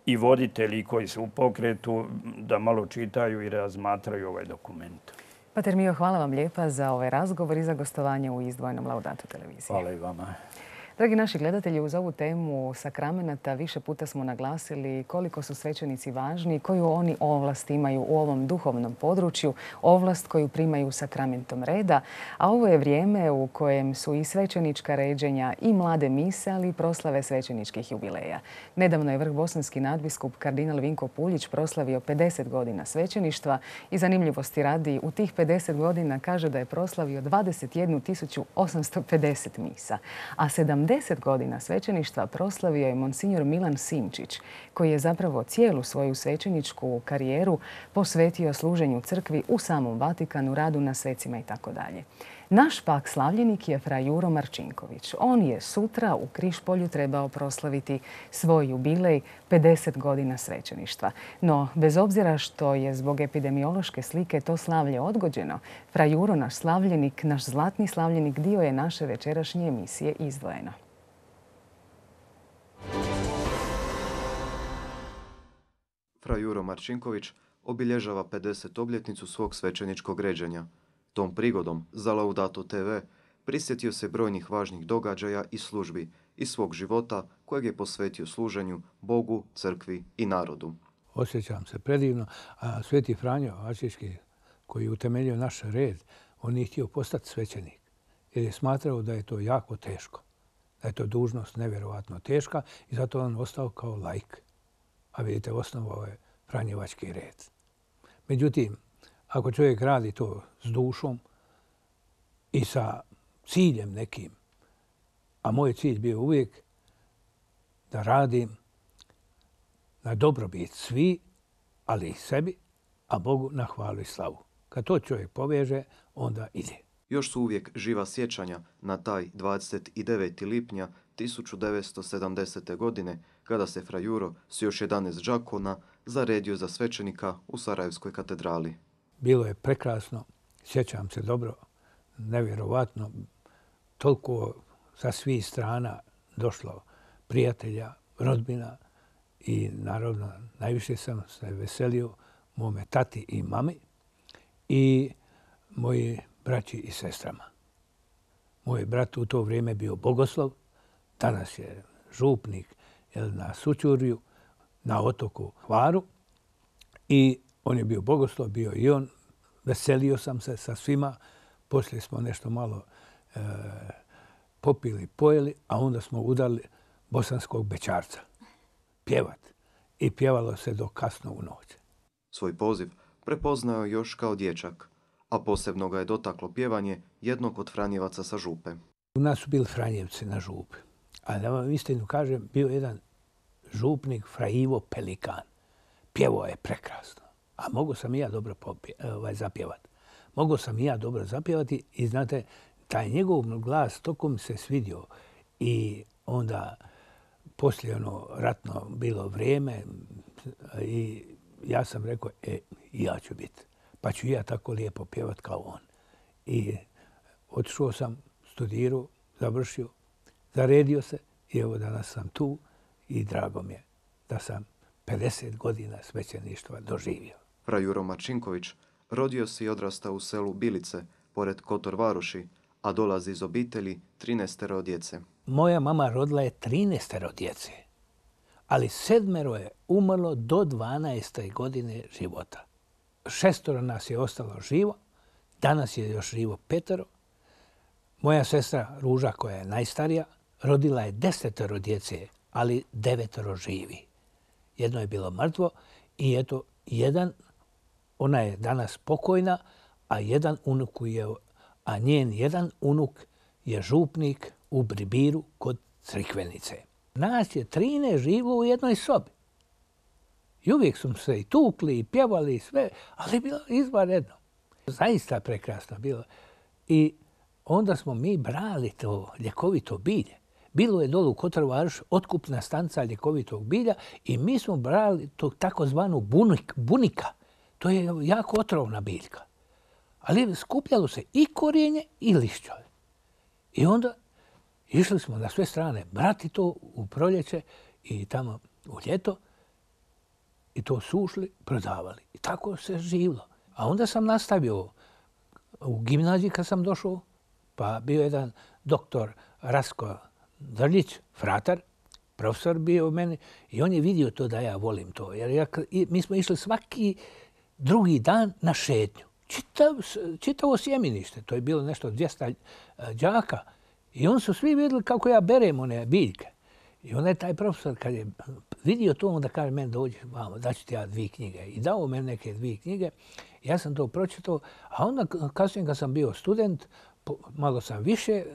i voditelji koji su u pokretu da malo čitaju i razmatraju ovaj dokument. Pater Mio, hvala vam lijepa za ovaj razgovor i za gostovanje u izdvojenom Laudato televiziji. Hvala i vama. Dragi naši gledatelji, uz ovu temu sakramenata više puta smo naglasili koliko su svećenici važni, koju oni ovlast imaju u ovom duhovnom području, ovlast koju primaju sakramentom reda, a ovo je vrijeme u kojem su i svećenička ređenja i mlade mise, ali i proslave svećeničkih jubileja. Nedavno je vrhbosanski nadbiskup kardinal Vinko Puljić proslavio pedeset godina svećeništva i zanimljivosti radi u tih pedeset godina kaže da je proslavio dvadeset jednu tisuću osamsto pedeset misa, a sedamdeset godina svećeništva proslavio je monsignor Milan Simčić, koji je zapravo cijelu svoju svećeničku karijeru posvetio služenju crkvi u samom Vatikanu, radu na svecima i tako dalje. Naš pak slavljenik je fra Juro Marčinković. On je sutra u Križpolju trebao proslaviti svoj jubilej pedeset godina svećeništva. No, bez obzira što je zbog epidemiološke slike to slavlje odgođeno, fra Juro, naš slavljenik, naš zlatni slavljenik, dio je naše večerašnje emisije Izdvojeno. Fra Juro Marčinković obilježava pedeset obljetnicu svog svećeničkog ređenja. Tom prigodom za Laudato te ve prisjetio se brojnih važnih događaja i službi iz svog života kojeg je posvetio služenju Bogu, crkvi i narodu. Osjećam se predivno, a Sveti Franjo Asiški, koji je utemeljio naš red, on nije htio postati svećenik jer je smatrao da je to jako teško, da je to dužnost nevjerovatno teška i zato on ostao kao laik. A vidite, osnovao je Franjevački red. Međutim, ako čovjek radi to s dušom i sa ciljem nekim, a moj cilj bio uvijek da radim na dobrobit svi, ali i sebi, a Bogu na hvalu i slavu. Kad to čovjek poveže, onda ide. Još su uvijek živa sjećanja na taj dvadeset devetog lipnja tisuću devetsto sedamdesete. godine, kada se fra Juro s još jedanaest đakona zaredio za svećenika u Sarajevskoj katedrali. Bilo je prekrasno, sjećam se dobro, nevjerovatno, toliko sa svih strana došlo prijatelja, rodbina i naravno najviše sam se veselio mome tati i mami i moji braći i sestrama. Moj brat u to vrijeme bio bogoslov, danas je župnik na Sućurju, na otoku Hvaru i on je bio bogoslov, bio i on. Veselio sam se sa svima. Poslije smo nešto malo e, popili, pojeli, a onda smo udali bosanskog bećarca. Pjevat. I pjevalo se do kasno u noć. Svoj poziv prepoznao još kao dječak, a posebno ga je dotaklo pjevanje jednog od Franjevaca sa Župe. U nas su bili Franjevci na župi. A da vam istinu kažem, bio jedan župnik Fra Ivo Pelikan. Pjevao je prekrasno. A mogu sam i ja dobro ovaj, zapjevati. Mogu sam i ja dobro zapjevati i znate, taj njegov glas toko mi se svidio. I onda poslije ono ratno bilo vrijeme i ja sam rekao, e, ja ću biti. Pa ću ja tako lijepo pjevat kao on. I otišao sam, studirao, završio, zaredio se i evo danas sam tu i drago mi je da sam pedeset godina svećeništva doživio. Fra Juro Marčinković rodio se i odrastao u selu Bilice, pored Kotor Varoši, a dolazi iz obitelji trinaestero djece. Moja mama rodila je trinaestero djece, ali sedmero je umrlo do dvanaeste godine života. Šestoro nas je ostalo živo, danas je još živo petero. Moja sestra Ruža, koja je najstarija, rodila je desetero djece, ali devetoro živi. Jedno je bilo mrtvo i eto, jedan, ona je danas pokojna, a jedan unuk je, a njen jedan unuk je župnik u Bribiru kod Crikvenice. Nas je trinaest živlo u jednoj sobi. I uvijek smo se i tukli i pjevali i sve, ali bilo izvanredno. Zaista prekrasno bilo. I onda smo mi brali to ljekovito bilje. Bilo je dolu u Kotor Varoši otkupna stanca ljekovitog bilja i mi smo brali to takozvanu bunik, bunika. To je jako otrovna biljka. Ali skupljalo se i korijenje i lišćove. I onda išli smo na sve strane brati to u proljeće i tamo u ljeto i to sušli, prodavali. I tako se živlo. A onda sam nastavio u gimnaziji kad sam došao, pa bio jedan doktor Rasko Drljić, fratar, profesor bio u meni i on je vidio to da ja volim to. Jer ja, mi smo išli svaki drugi dan na šetnju. Čitav, čitavo sjemenište, to je bilo nešto dvjesto đaka. I on su svi vidjeli kako ja berem one biljke. I onda je taj profesor, kad je vidio to, onda kaže meni dođi, vamo, daću ti ja dvije knjige. I dao meni neke dvije knjige. Ja sam to pročitao, a onda kasnije kad sam bio student, malo sam više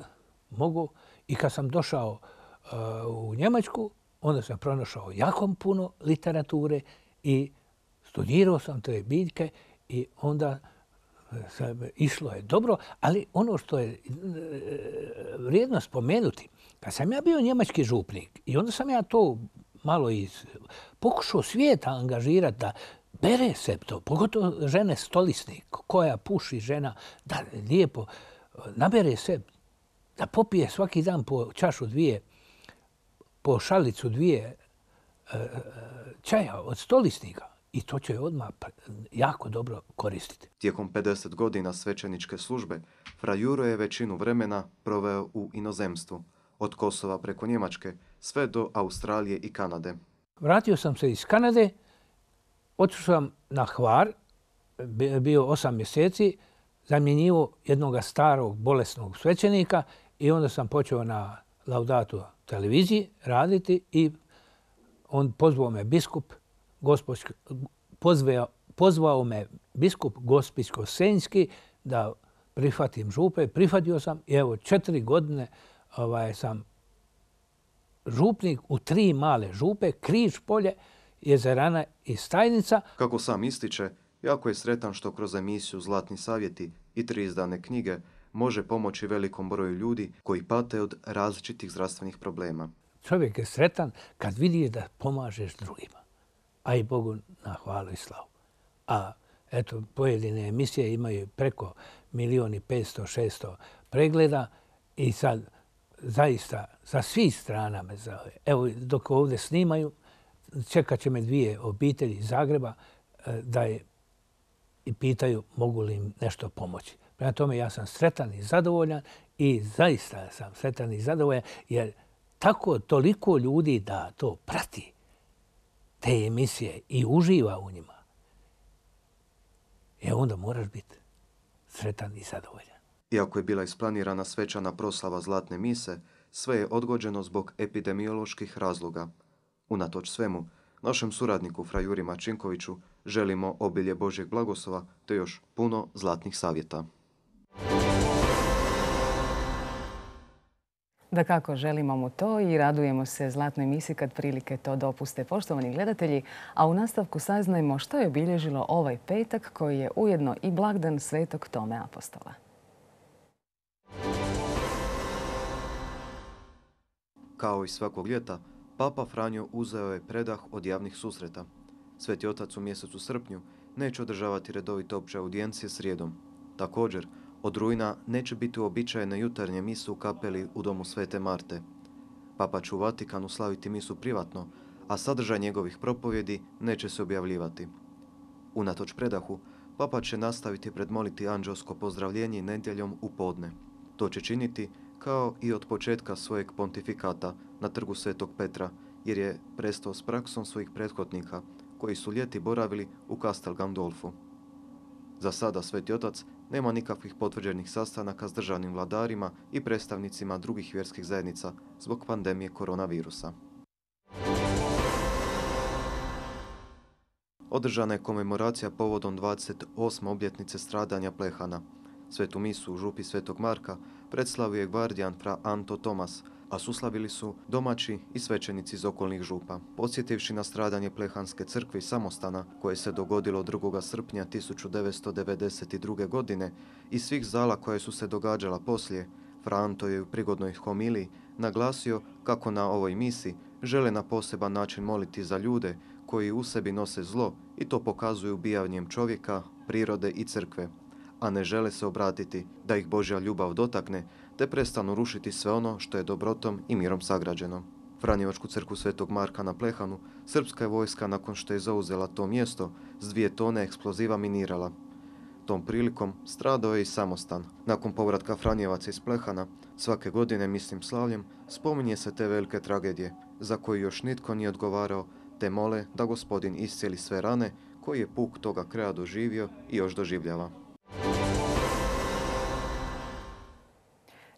mogu. I kad sam došao uh, u Njemačku, onda sam pronašao jako puno literature i studirao sam te biljke i onda sam, išlo je dobro. Ali ono što je uh, vrijedno spomenuti, kad sam ja bio njemački župnik i onda sam ja to malo iz, pokušao svijeta angažirati da bere se to, pogotovo žene stolisnik, koja puši žena, da lijepo nabere se, da popije svaki dan po čašu dvije, po šalicu dvije e, čaja od stolisnika. I to će odmah jako dobro koristiti. Tijekom pedeset godina svećeničke službe, Fra Juro je većinu vremena proveo u inozemstvu, od Kosova preko Njemačke sve do Australije i Kanade. Vratio sam se iz Kanade, otišao sam na Hvar, bio osam mjeseci, zamjenjivao jednog starog bolesnog svećenika i onda sam počeo na Laudatu televiziji raditi i on pozvao me biskup, gospočki, pozvao, pozvao me biskup Gospićko-senjski da prihvatim župe. Prihvatio sam i evo četiri godine ovaj, sam župnik u tri male župe, Križ Polje, Jezerana i Stajnica. Kako sam ističe, jako je sretan što kroz emisiju Zlatni savjeti i tri izdane knjige može pomoći velikom broju ljudi koji pate od različitih zdravstvenih problema. Čovjek je sretan kad vidi da pomažeš drugima, a i Bogu na hvalu i slavu. A eto, pojedine emisije imaju preko milijon i petsto, šesto pregleda i sad zaista sa svih strana me zove. Evo, dok ovdje snimaju, čekat će me dvije obitelji iz Zagreba da je i pitaju mogu li im nešto pomoći. Prema tome ja sam sretan i zadovoljan i zaista sam sretan i zadovoljan jer tako toliko ljudi da to prati te emisije i uživa u njima. E onda moraš biti sretan i zadovoljan. Iako je bila isplanirana svečana proslava Zlatne mise, sve je odgođeno zbog epidemioloških razloga. Unatoč svemu, našem suradniku Fra Juri Marčinkoviću želimo obilje Božjeg blagoslova te još puno zlatnih savjeta. Da kako želimo mu to i radujemo se zlatnoj misi kad prilike to dopuste, poštovani gledatelji. A u nastavku saznajmo što je obilježilo ovaj petak koji je ujedno i blagdan Svetog Tome Apostola. Kao i svakog ljeta, Papa Franjo uzeo je predah od javnih susreta. Sveti otac u mjesecu srpnju neće održavati redovite opće audijencije srijedom. Također, od rujna neće biti uobičajene jutarnje mise u kapeli u domu Svete Marte. Papa će u Vatikanu slaviti misu privatno, a sadržaj njegovih propovjedi neće se objavljivati. Unatoč predahu, Papa će nastaviti predmoliti anđelsko pozdravljenje nedjeljom u podne. To će činiti kao i od početka svojeg pontifikata na trgu Svetog Petra, jer je prestao s praksom svojih prethodnika, koji su ljeti boravili u Castel Gandolfu. Za sada Sveti otac nema nikakvih potvrđenih sastanaka s državnim vladarima i predstavnicima drugih vjerskih zajednica zbog pandemije koronavirusa. Održana je komemoracija povodom dvadeset osme obljetnice stradanja Plehana. Svetu misu u župi Svetog Marka predslavio je gvardijan fra Anto Tomas, a suslavili su domaći i svećenici iz okolnih župa. Podsjetivši na stradanje Plehanske crkve i samostana, koje se dogodilo drugog srpnja tisuću devetsto devedeset druge. godine i svih zala koje su se događala poslije, fra Anto je u prigodnoj homiliji naglasio kako na ovoj misi žele na poseban način moliti za ljude koji u sebi nose zlo i to pokazuju ubijanjem čovjeka, prirode i crkve, a ne žele se obratiti da ih Božja ljubav dotakne, te prestanu rušiti sve ono što je dobrotom i mirom sagrađeno. Franjevačku crkvu Svetog Marka na Plehanu srpska je vojska, nakon što je zauzela to mjesto, s dvije tone eksploziva minirala. Tom prilikom stradao je i samostan. Nakon povratka Franjevaca iz Plehana, svake godine, mislim slavljem, spominje se te velike tragedije, za koje još nitko nije odgovarao, te mole da Gospodin iscijeli sve rane koji je puk toga kraja doživio i još doživljava.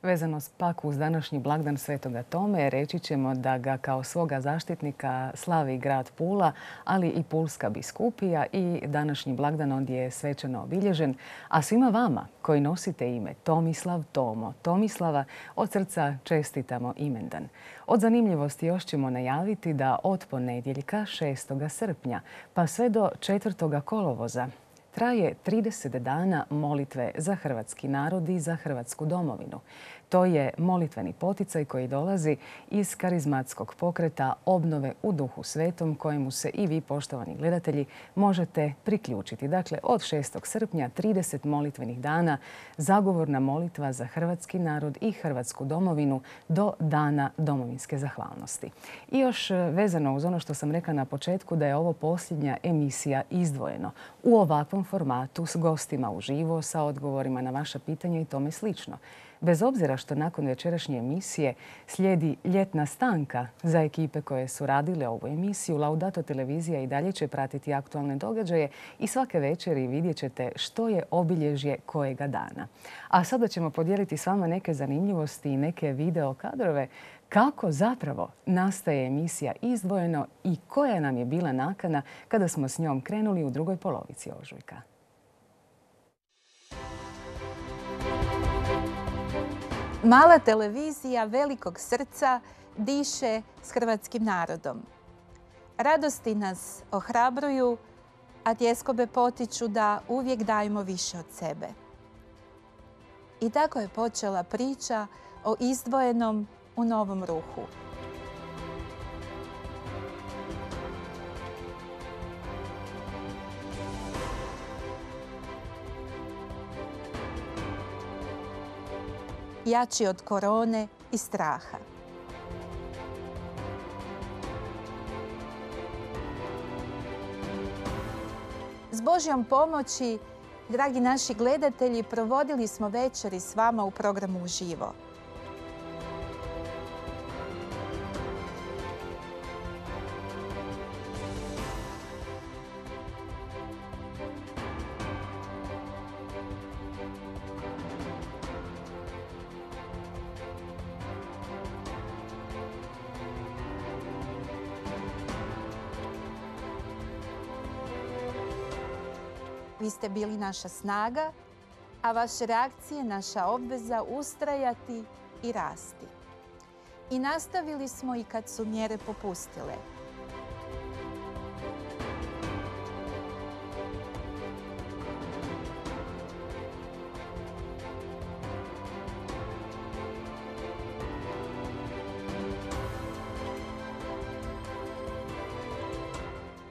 Vezano pak uz današnji blagdan Svetoga Tome, reći ćemo da ga kao svoga zaštitnika slavi grad Pula, ali i Pulska biskupija i današnji blagdan ondje je svečano obilježen. A svima vama koji nosite ime Tomislav, Tomo, Tomislava, od srca čestitamo imendan. Od zanimljivosti još ćemo najaviti da od ponedjeljka šestog srpnja pa sve do četvrtog kolovoza traje trideset dana molitve za hrvatski narod i za Hrvatsku domovinu. To je molitveni poticaj koji dolazi iz karizmatskog pokreta Obnove u Duhu Svetom, kojemu se i vi, poštovani gledatelji, možete priključiti. Dakle, od šestog srpnja trideset molitvenih dana, zagovorna molitva za hrvatski narod i Hrvatsku domovinu do Dana domovinske zahvalnosti. I još vezano uz ono što sam rekla na početku, da je ovo posljednja emisija Izdvojeno u ovakvom formatu s gostima uživo, sa odgovorima na vaša pitanja i tome slično. Bez obzira što nakon večerašnje emisije slijedi ljetna stanka za ekipe koje su radile ovu emisiju, Laudato televizija i dalje će pratiti aktualne događaje i svake večeri vidjet ćete što je obilježje kojega dana. A sada ćemo podijeliti s vama neke zanimljivosti i neke video kadrove kako zapravo nastaje emisija Izdvojeno i koja nam je bila nakana kada smo s njom krenuli u drugoj polovici ožujka. Mala televizija velikog srca diše s hrvatskim narodom. Radosti nas ohrabruju, a tjeskobe potiču da uvijek dajemo više od sebe. I tako je počela priča o Izdvojenom u Novom Ruhu. Jači od korone i straha. S Božjom pomoći, dragi naši gledatelji, provodili smo večeri s vama u programu Uživo. Vi ste bili naša snaga, a vaše reakcije naša obveza ustrajati i rasti. i nastavili smo i kad su mjere popustile.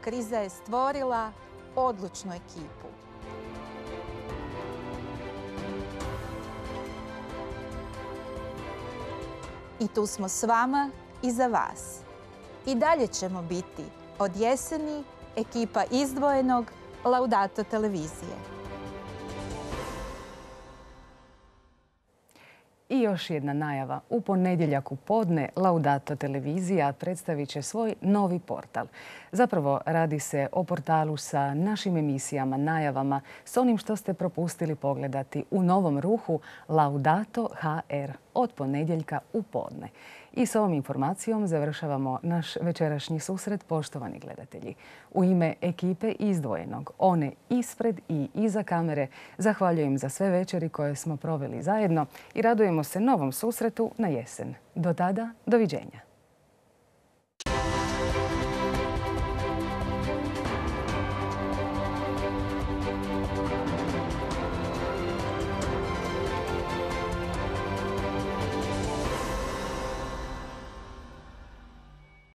Kriza je stvorila odlučnu ekipu. I tu smo s vama i za vas. I dalje ćemo biti od jeseni ekipa izdvojenog Laudato televizije. I još jedna najava. U ponedjeljak u podne Laudato televizija predstavit će svoj novi portal. Zapravo radi se o portalu sa našim emisijama, najavama, s onim što ste propustili pogledati u novom ruhu Laudato ha er od ponedjeljka u podne. I s ovom informacijom završavamo naš večerašnji susret, poštovani gledatelji. U ime ekipe Izdvojenog, one ispred i iza kamere, zahvaljujem za sve večeri koje smo proveli zajedno i radujemo se novom susretu na jesen. Do tada, doviđenja.